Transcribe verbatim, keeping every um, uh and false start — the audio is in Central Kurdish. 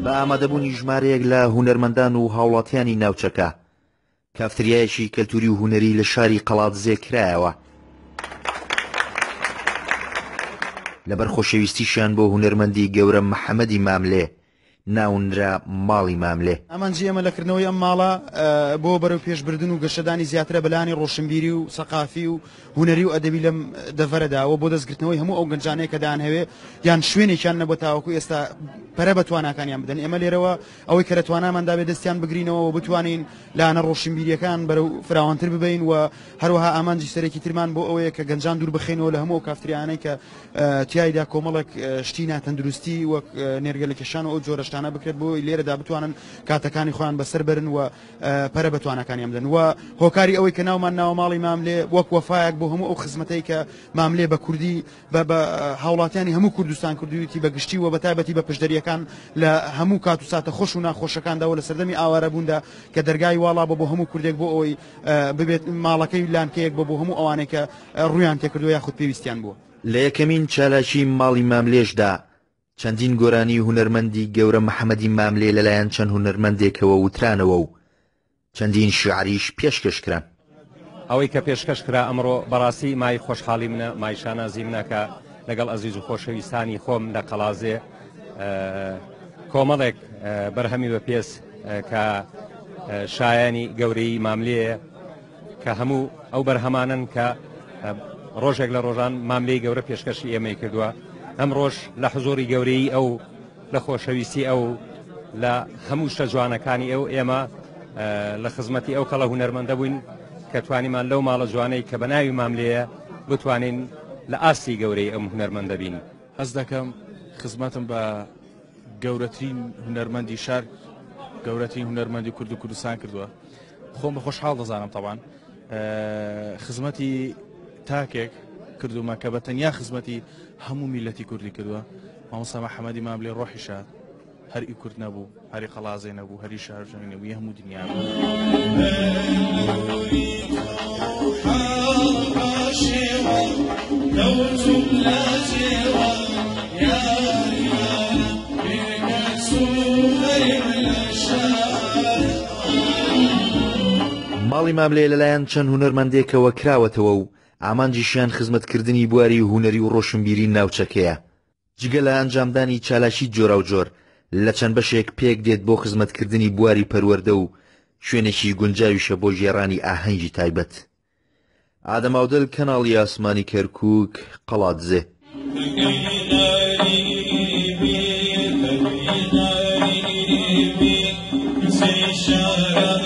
بە ئامادەبوونی ژمارەیەک لە هونەرمەندان و هاوڵاتیانی ناوچەکە کافتریایەکی کەلتوری و هونەری لە شاری قەڵادزێ کرایەوە. لەبەر خۆشەویستیشیان بۆ هونەرمەندی گەورە محەممەدی ماملێ ناونرا ماڵی ماملێ. ئامانجی ئێمە لە کردنەوەی ئەم ماڵە بۆ بەرەو پێشبردن و گەشەدانی زیاترە بەلانی ڕۆشنبیری و سەقافی و هونەری و ئەدەبی لەم دەڤەرەدا و بۆ دەستگرتنەوەی هەموو ئەو گەنجانەیە کە دانهەوێ یان شوێنێکیان نەبوو تاوەکو ئێستا پەرە بە تواناکانیان بدەن. ئێمە لێرەوە ئەوەی کە لە تواناماندا بێ دەستیان بگرینەوە و بتوانین لایەنە ڕۆشنبیریەکان بەرەو فراوانتر ببین و هەروەها ئامانجی سەرەکی ترمان بۆ ئەوەیە کە گەنجان دوور بخەینەوە لە هەموو ئەو کافتریانەی کە تیایدا کۆمەڵێک شتی ناتەندروستی وەک نێرگەلە کێشان و ئەو جۆرە شتانە بکرێت بۆ لێرەدا بتوانن کاتەکانی خۆیان بەسەر بەرن و پەرە بە تواناکانیان بدەن. و هۆکاری ئەوەی کە ناومان ناوە ماڵی ماملێ وەک وەفایەک بۆ هەموو ئەو خزمەتەی کە ماملێ بە کوردی بە هاوڵاتیانی هەموو کوردستان کردوویەتی بە گشتی و بە تایبەتی بە پشدەریەکان لە هەموو کات و ساتە خۆش و ناخۆشەکاندا و لە سەردەمی ئاوارەبووندا کە دەرگای واڵا بۆ بۆ هەموو کوردێک بۆ ئەوەی ببێت ماڵەکەی لانکەیەک بۆ بۆ هەموو ئەوانەی کە ڕوویان تێکردووە یاخود پێویستیان بووە. لە یەکەمین چالاکی ماڵی ماملێشدا چەندین گۆرانی هونەرمەندی گەورە محەممەدی ماملێ لەلایەن چەند هونەرمەندێکەوە وترانەوە و چەندین شعریش پێشکەش کران. ئەوەی کە پێشکەش کرا ئەمڕۆ بەڕاستی مای خۆشحاڵی منە، مای شانازی منە کە لەگەڵ ئەزیز و خۆشەویستانی خۆم لە قەڵازێ کۆمەڵێک بەرهەمی بە پێس کە شایانی گەورەی ماملێیە کە هەموو ئەو بەرهەمانن کە ڕۆژێک لە ڕۆژان ماملێی گەورە پێشکەشی ئێمەی کردووە. ئەم ڕۆژ لە حزوری گەورەی ئەو، لە خۆشەویستی ئەو، لە هەموو شتە جوانەکانی ئەو، ئێمە لە خزمەتی ئەو کەڵە هونەرمەندە بووین کە توانیمان لەو ماڵە جوانەی کە بە ناوی ماملێیە بتوانین لە ئاستی گەورەی ئەم هونەرمەندە بین. هەست دەکەم خزمەتم بە گەورەترین هونەرمەندی شار، گەورەترین هونەرمەندی کورد و کوردستان کردووە. خۆم بە خۆشحاڵ دەزانم تەبان خزمەتی تاکێک کردومە کە بە تەنیا خزمەتی هەموو میلەتی کوردی کردووە. مامۆستا محەممەدی ماملێ ڕۆحی شاد، هەر ئی کورد نەبوو، هەری قەڵازێ نەبوو، هەری شارژەنی نەبوو، هەموو دنیا بوو. ماڵی ماملێ لەلایەن چەند هونەرمەندێکەوە کراوەتەوە و ئامانجیشیان خزمەتکردنی بواری هونەری و ڕۆشنبیری ناوچەکەیە. جگە لە ئەنجامدانی چالاکی جۆراوجۆر لە چەند بەشێک پێک دێت بۆ خزمەتکردنی بواری پەروەردە و شوێنێکی گونجاویشە بۆ گێڕانی ئاهەنگی تایبەت. ئادەماودل، کەناڵی ئاسمانی کەرکووک، قەڵادزێ. شارە